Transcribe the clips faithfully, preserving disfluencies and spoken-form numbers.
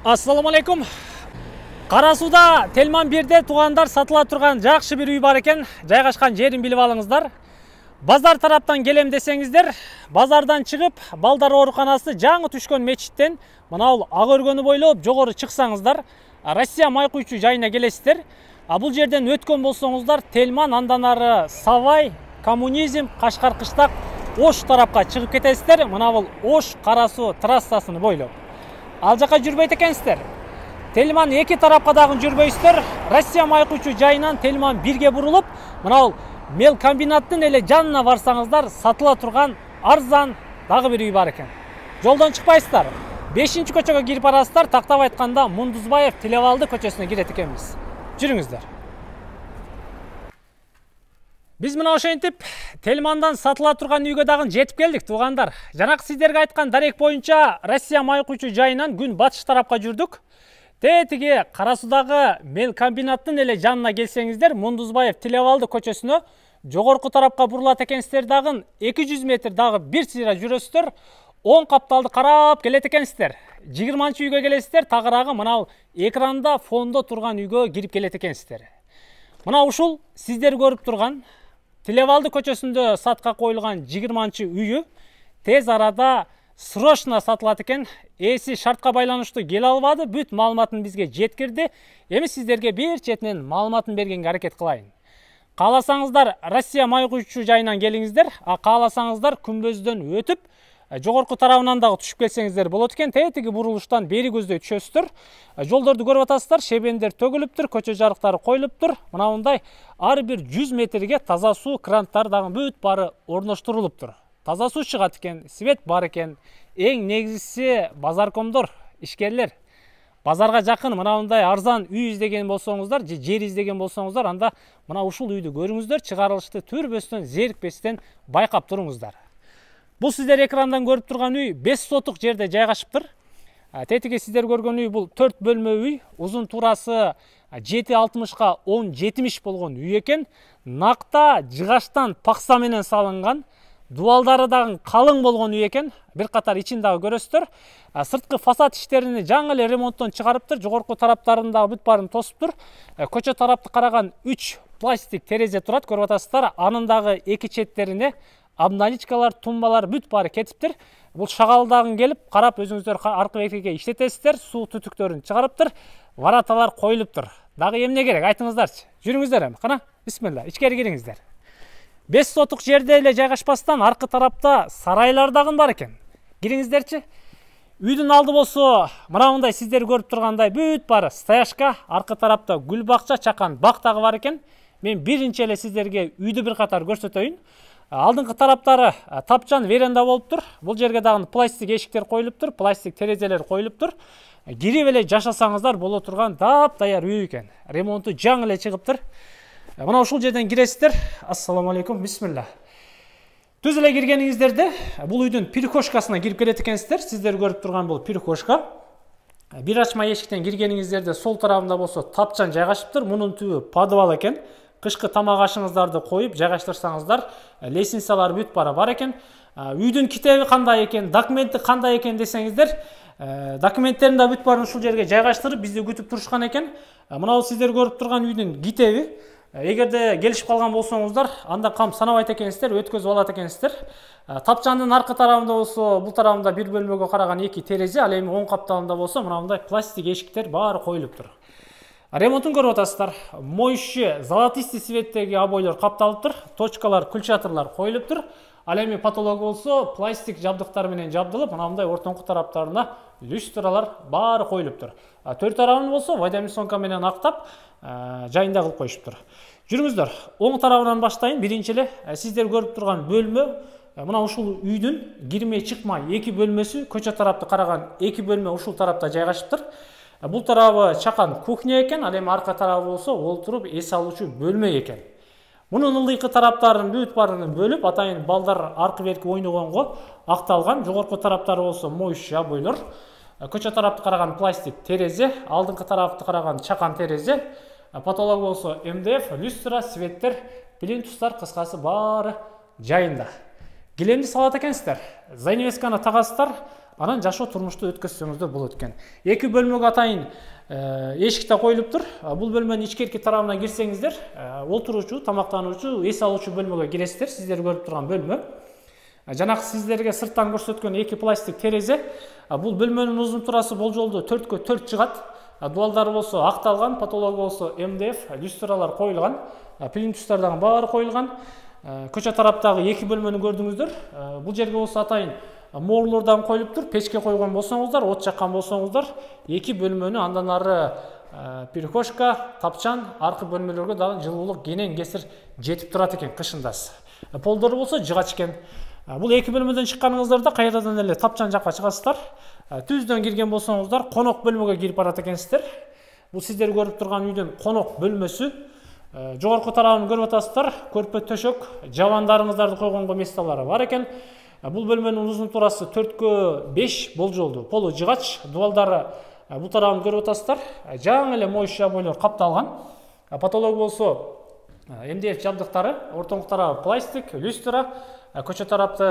Assalamu alaikum. Кара сууда Телман бирде туугандар сатыла турган жакшы бир үй бар экен. Жайгашкан жерин билип алыңыздар. Базар тараптан келем десеңиздер, базардан чыгып, балдар ооруканасы жаңы түшкөн мечиттен мынау ак өргөнү бойлоп жогору чыксаңыздар, Россия май куйчу жайына келесиздер. А бул жерден өткөн болсоңуздар, Телман андан ары Савай, Коммунизм, Кашкар Кыштак, Ош тарапка чыгып кетесиздер. Мына бул Ош Кара суу трассасын бойлоп. Ал жака жүрбөйт экенсиздер. Телман эки тарапка дагы жүрбөйсүздөр. Россия май куйчу жайынан Телман бирге бурулуп, мына бул мел комбинаттын эле жанына барсаңыздар, сатыла турган арзан дагы бир үй бар экен. Жолдон чыкпайсыздар. бешинчи көчөгө кирип барасыздар, тактап айтканда Мундузбаев Тилебалды көчөсүнө кирет экенбиз. Жүрүңүздөр. Биз мына ошентип Телмандан сатыла турган үйгө дагы жетип келдик, туугандар. Жанакы сиздерге айткан дарек боюнча Россия май куйчу жайынан күн батыш тарапка жүрдүк. Тетиги Кара суудагы мел комбинаттын эле жанына келсеңиздер, Мундузбаев Тилебалды көчөсүнө жогорку тарапка бурулат экенсиздер, дагы эки жүз метр дагы бир сыйра жүрөсүздөр. он капталды карап келет экенсиздер. жыйырманчы үйгө келесиздер, тагыраагы мына экранда фондо турган үйгө кирип келет экенсиздер. Мына ушул сиздер көрүп турган Тилебалды көчөсүндө сатка коюлган жыйырманчы үйү тез арада срочно сатылат экен. Эси шартка байланыштуу келе албады, бүт маалыматын бизге жеткирди. Эми сиздерге бир четинен маалыматын бергенге аракет кылайын. Кааласаңыздар Россия май куйчу жайынан келиңиздер, а кааласаңыздар күмбөздөн өтүп жогорку тарабынан дагы түшүп келсеңиздер болот экен. Тетиги бурулуштан бери көздөй түшөсүздөр. Жолдорду көрүп атасыздар, шебендер төгүлүптүр, көчө жарыктары коюлуптур. Мына мындай ар бир жүз метрге таза суу кранттары дагы бүт баары орноштурулуптур. Таза суу чыгат экен, свет бар экен. Эң негизгиси базаркомдор, ишкерлер. Базарга жакын мына мындай арзан үй издеген болсоңуздар, же жер издеген болсоңуздар, анда мына ушул үйдү көрүңүздөр, чыгарылышты түрбөстөн, зерикпестен байкап туруңуздар. Бул сиздер экрандан көрүп турган үй беш сотук жерде жайгашыптыр. Тетиги сиздер көргөн үй бул төрт бөлмө үй, узун турасы жети алтымышка он жетимиш болгон үй экен. Накта жыгаштан пакса менен салынган, дубалдары дагы калың болгон үй экен. Бир катар ичин дагы көрөсүздөр. Сырткы фасад иштерини жаңы эле ремонттон чыгарыптыр, жогорку тараптарын дагы бүт баарын тосуптур. Көчө тарапты караган үч пластик терезе турат, көрүп атасыздар. Анын дагы эки четтерине обналичкалар, тумбалар бүт баары кетиптир. Бул шагалдагы келип карап өзүңүздөр аркы бекиге иштетесиздер. Суу түтүктөрүн чыгарыптыр. Вараталар коюлуптур. Дагы эмне керек айтыңыздарчы. Жүрүңүздөр эми. Кана, бисмилла, ичкери кириңиздер. беш сотук жерде эле жайгашпастан аркы тарапта сарайлар дагы бар экен. Кириңиздерчи. Үйдүн алды болсо мына мындай сиздер көрүп тургандай бүт баары стояшка, аркы тарапта гүл бакча, чакан бак дагы бар экен. Мен биринчи эле сиздерге үйдү бир катар көрсөтөйүн. Алдыңкы тараптары тапчан веранда болуптур. Бул жерге дагы пластик эшиктер коюлуптур, пластик терезелер коюлуптур. Кирип эле жашасаңыздар боло турган таап-таяр үй экен. Ремонту жаңы эле чыгыптыр. Мына ушул жерден киресиздер. Ассаламу алейкум, бисмилла. Түз эле киргениңиздерде бул үйдүн перехожкасына кирип келет экенсиздер. Сиздер көрүп турган бул перехожка. Бир ачма эшиктен киргениңиздерде сол тарабында болсо тапчан жайгашыптыр. Мунун түбү подвал экен. Кышкы тамак ашыңыздарды коюп жайгаштырсаңыздар, лестницалар бүт баары бар экен. Үйдүн китеби кандай экен, документи кандай экен десеңиздер, документтерин да бүт баарын ушул жерге жайгаштырып бизди күтүп турушкан экен. Мына сиздер көрүп турган үйдүн китеби. Эгерде келишип калган болсоңуздар, анда кам санабайт экенсиздер, өткөзүп алат экенсиздер. Тапчандын аркы тарабында болсо, бул тарабында бир бөлмөгө караган эки терезе, ал эми оң капталында болсо, мына мындай пластик эшиктер баары коюлуптур. Ремонтун көрүп атасыздар. Моющий золотистый цветтеги обойлор капталыптыр, точкалар, кульчатырлар коюлуптур. Ал эми потолок болсо пластик жабдыктар менен жабдылып, мына мындай ортоңку тараптарына люстралар баары коюлуптур. Төрт тарабын болсо водомесонка менен актап, жайында кылып коюшуптур. Жүрүңүздөр, оң тарабынан баштайын. Биринчи эле сиздер көрүп турган бөлмө, мына ушул үйдүн кирмей чыкмай эки бөлмөсү, көчө тарапты караган эки бөлмө ушул тарапта жайгашыптыр. Бул тарабы чакан кухня экен, ал эми арка тарабы болсо олтуруп эс алуучу бөлмө экен. Мунун ылдыйкы тараптарын бүт баарын бөлүп, атайын балдар аркы берки ойногонго акталган. Жогорку тараптары болсо моющий обойлор. Көчө тарапты караган пластик терезе, алдыңкы тарапты караган чакан терезе. Потолок болсо эм дэ эф, люстра, светтер, плинтустар, кыскасы баары жайында. Килемди салат экенсиздер. Занавесканы тагасыздар. анан жашоо турмушту өткөзсөңүздөр болот экен. Эки бөлмөгө атайын эшик да коюлуптур. Бул бөлмөнүн ичкерки тарабына кирсеңиздер, олтуруучу, тамактануучу, эс алуучу бөлмөгө киресиздер. Сиздер көрүп турган бөлмө. Жанагы сиздерге сырттан көрсөткөн эки пластик терезе. Бул бөлмөнүн узун турасы болжолдуу төрткө төрт жыгат. Дуалдары болсо акталган, потологу болсо эм дэ эф, люстралар коюлган, плинтустардагы баары коюлган. Көчө тараптагы эки бөлмөнү көрдүңүздөр. Бул жерге болсо атайын моорлор дагы коюлуптур. Печке койгон болсоңуздар, от жаккан болсоңуздар, эки бөлмөнү андан ары перехожка, тапчан, аркы бөлмөлөргө дагы жылуулук кенен кесир жетип турат экен кышындасы. Полдору болсо жыгач экен. Бул эки бөлмөдөн чыкканыңыздарда кайрадан эле тапчан жакка чыгасыздар. Түздөн кирген болсоңуздар, конок бөлмөгө кирип барат экенсиздер. Бул сиздер көрүп турган үйдүн конок бөлмөсү. Жогорку тарабын көрүп атасыздар. Көрпө төшөк, жабандарыңыздарды койгонго месталары бар экен. Бул бөлмөнүн узун турасы төрткө беш болжолдуу. Полу жыгач, дуалдары бул тарабын көрүп атасыздар. Жаңы эле моющий обойлор капталган. Потолок болсо эм дэ эф жабдыктары, ортоңку тарабы пластик, люстра. Көчө тарапты,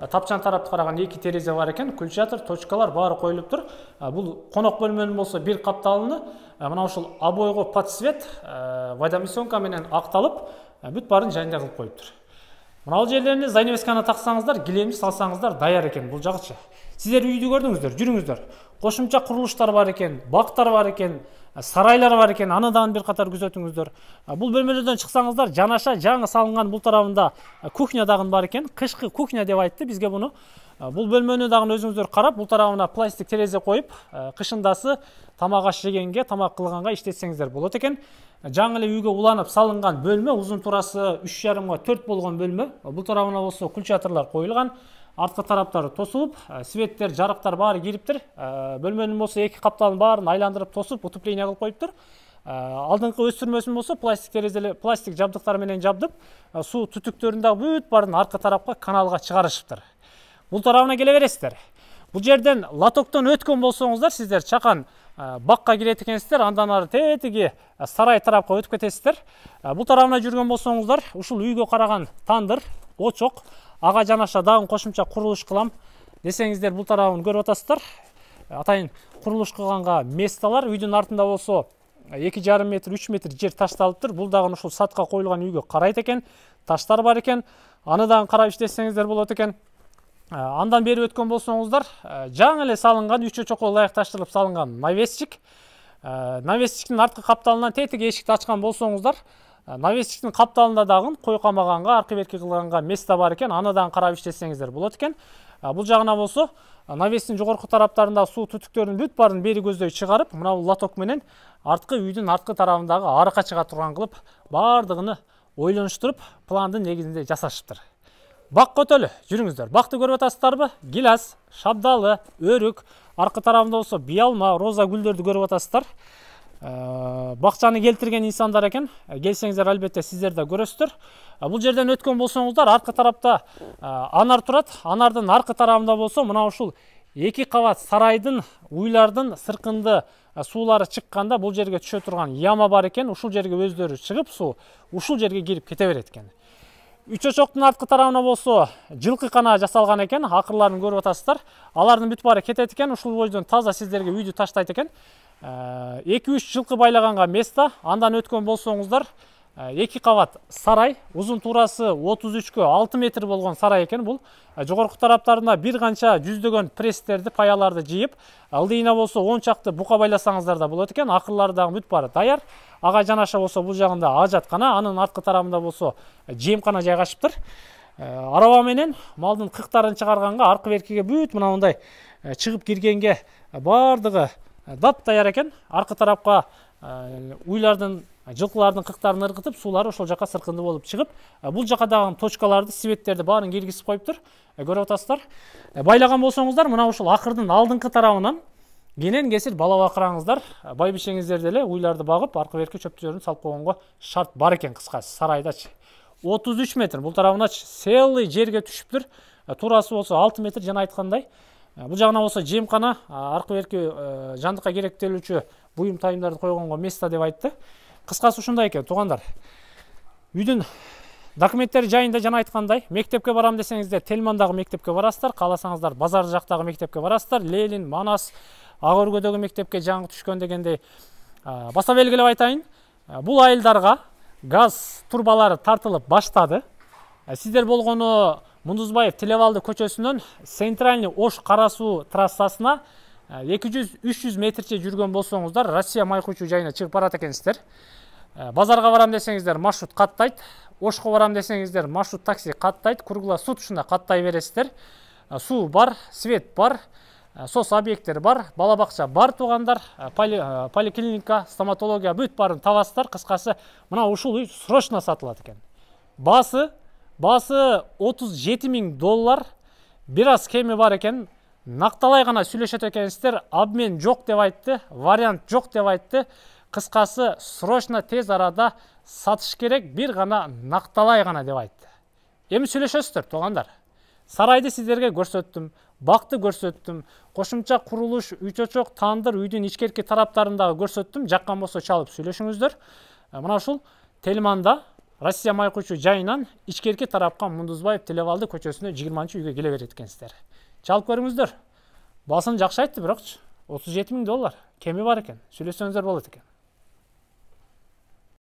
тапчан тарапты караган эки терезе бар экен, күлчатыр, точкалар баары коюлуптур. Бул конок бөлмөнүн болсо бир капталыны мына ушул обойго под цвет водомесёнка менен акталып, бүт баарын жайында кылып коюптур. Мына бул жерлерине занавесканы таксаңыздар, килемди салсаңыздар даяр экен бул жагычы. Сиздер үйдү көрдүңүздөр, жүрүңүздөр. Кошумча курулуштар бар экен, бактар бар экен, сарайлар бар экен, анадан бир катар күзөтүңүздөр. Бул бөлмөлөрдөн чыксаңыздар, жанаша жаңы салынган бул тарабында кухня дагы бар экен. Кышкы кухня деп айтты бизге буну. Бул бөлмөнү дагы өзүңүздөр карап, бул тарабына пластик терезе коюп, кышындасы тамак аш жегенге, тамак кылганга иштетсеңиздер болот экен. Жаңы эле үйгө уланып салынган бөлмө, узун турасы үч жарымга төрт болгон бөлмө. Бул тарабына болсо күлчатырлар коюлган. Арткы тараптары тосулуп, светтер, жарыктар баары кириптир. Бөлмөнүн болсо эки капталын баарын айландырып тосуп, утепление кылып коюптур. Алдыңкы өстүрмөсүн болсо пластик терезелер, пластик жабдыктар менен жабдып, суу түтүктөрүн дагы бүт баарын аркы тарапка каналга чыгарышыптыр. Бул тарабына келе бересиздер. Бул жерден лотоктон өткөн болсоңуздар, сиздер чакан бакка кирет экенсиздер, андан ары тетиги сарай тарапка өтүп кетесиздер. Бул тарабына жүргөн болсоңуздар, ушул үйгө караган тандыр, очок, ага жанаша дагы кошумча курулуш кылам десеңиздер, бул тарабын көрүп атасыздар. Атайын курулуш кылганга месталар, үйдүн артында болсо эки жарым метр, үч метр жер ташталыптыр. Бул дагы ушул сатка коюлган үйгө карайт экен. Таштар бар экен. Аны дагы карап иштесеңиздер болот экен. Андан бери өткөн болсоңуздар, жаңы эле салынган, үч очокко ылайык таштырылып салынган навесчик. Навесчиктин арткы капталынан тетиги эшикти ачкан болсоңуздар, навесчиктин капталында дагы кой камаганга, аркы берки кылганга место бар экен. Аны дагы карап иштесеңиздер болот экен. Бул жагына болсо, навестин жогорку тараптарында суу түтүктөрүнүн бүт баарын бери көздөй чыгарып, мына бул лоток менен арткы үйдүн арткы тарабындагы арыкка чыга турган кылып, баардыгыны ойлонуштуруп, пландын негизинде жасашыптыр. Бак көтөлү, жүрүңүздөр. Бакты көрүп атасыздарбы? Гилас, шабдалы, өрүк, аркы тарабында болсо биялма, роза гүлдөрдү көрүп атасыздар. Бакчаны келтирген инсандар экен. Келсеңиздер, албетте сиздер да көрөсүздөр. Бул жерден өткөн болсоңуздар, аркы тарапта анар турат. Анардын аркы тарабында болсо, мына ушул эки кабат сарайдын, уйлардын сыркынды суулары чыкканда бул жерге түшө турган яма бар экен. Ушул жерге өздөрү чыгып, суу ушул жерге кирип кете берет экен. Үч очоктун арткы тарабына болсо жылкы кана жасалган экен. Акырларын көрүп атасыздар. Алардын бүт баары кетет экен. Ушул бойдон таза сиздерге үйдү таштайт экен. эки үч жылкы байлаганга место. Андан өткөн болсоңуздар, эки кабат сарай, узун турасы отуз үчкө алты метр болгон сарай экен бул. Жогорку тараптарына бир канча жүздөгөн пресстерди, паяларды жыйып, ылдыйына болсо он чакты бука байласаңыздар да болот экен. Акырлары дагы бүт баары даяр. Ага жанаша болсо бул жагында ажаткана, анын арткы тарабында болсо жемкана жайгашыптыр. Араба менен малдын кыктарын чыгарганга, аркы беркиге бүт мына мындай чыгып киргенге баардыгы дап даяр экен. Аркы тарапка уйлардын, жылкылардын кыктарын ыргытып, суулары ошол жака сыркынды болуп чыгып, бул жака дагы точкаларды, светтерди баарын киргизип коюптур. Көрүп атасыздар. Байлаган болсоңуздар, мына ушул акырдын алдыңкы тарабынан кенен кесир бала бакыраңыздар, байбишеңиздер деле уйларды багып, аркы берки чөптөрүн салып койгонго шарт бар экен. Кыскасы, сарайдачы отуз үч метр, бул тарабыначы целый жерге түшүптүр. Турасы болсо алты метр, жана айткандай. Бул жагына болсо жемкана, аркы берки жандыкка керектелүүчү буюм тайымдарды койгонго место деп айтты. Кыскасы ушундай экен, туугандар. Үйдүн Документтер жайында жана айткандай, мектепке барам десеңиздер, Тельмандагы мектепке барасыздар, кааласаңыздар базар жактагы мектепке барасыздар, Ленин, Манас, Ак өргөдөгү мектепке жаңы түшкөн дегендей. Баса белгилеп айтайын, бул айылдарга газ турбалары тартылып баштады. Сиздер болгону Мундузбаев Телебалды көчөсүнөн Центральный Ош Кара суу трассасына эки жүз үч жүз метрче жүргөн болсоңуздар, Россия май куйчу жайына чыгып барат экенсиздер. Базарга барам десеңиздер, маршрут каттайт. Ошко барам десеңиздер, маршрут такси каттайт. Круглосуточно каттай бересиздер. Суу бар, свет бар, сос объекттер бар, бала бакча бар туугандар, поли, поликлиника, стоматология бүт барын табасыздар. Кыскасы, мына ушул үй срочно сатылат экен. Басы басы отуз жети миң доллар. Бир аз кеми бар экен. Накталай гана сүйлөшөт экенсиздер. Обмен жок деп айтты, вариант жок деп айтты. Кыскасы, срочно тез арада сатыш керек, бир гана накталай гана деп айтты. Эми сүйлөшөсүздөр туугандар. Сарайды сиздерге көрсөттүм, бакты көрсөттүм, кошумча курулуш, үй чочок, тандыр, үйдүн ичкерки тараптарындагы көрсөттүм. Жаккан болсо чалып сүйлөшүңүздөр. Мына ушул Тельманда Россия май куйчу жайынан ичкерки тарапка Мундузбаев Телебалды көчөсүнө жыйырманчы үйгө келе берет экенсиздер. Чалып көрүңүздөр. Басын жакшы айтты, бирок отуз жети миң доллар кеми бар экен. Сүйлөсөңүздөр болот экен.